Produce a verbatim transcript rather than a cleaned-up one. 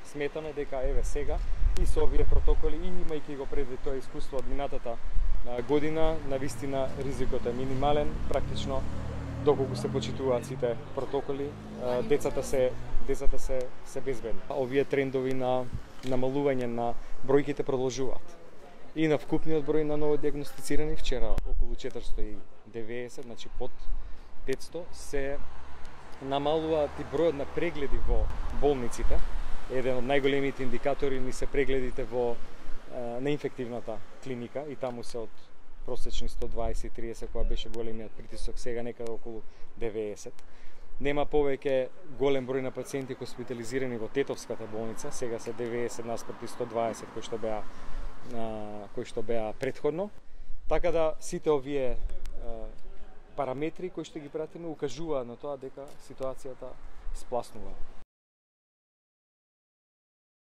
сметаме дека еве сега и со овие протоколи и имајќи го предвид тоа искуство од минатата година, навистина ризикот е минимален, практично доколку се почитуваат сите протоколи, децата се децата се се безбедни. Овие трендови на намалување на бројките продолжуваат. И на вкупниот број на новодиагностицирани вчера околу четиристо и деветдесет, значи под петсто, се намалуваат и бројот на прегледи во болниците. Еден од најголемите индикатори ни се прегледите во на инфективната клиника и таму се од просечни сто дваесет и триесет кога беше големиот притисок, сега некаде околу деветдесет. Нема повеќе голем број на пациенти хоспитализирани во Тетовската болница, сега се деветдесет наспроти сто дваесет кои што беа кои што беа претходно. Така да сите овие параметри кои што ги пратиме укажуваат на тоа дека ситуацијата спласнува.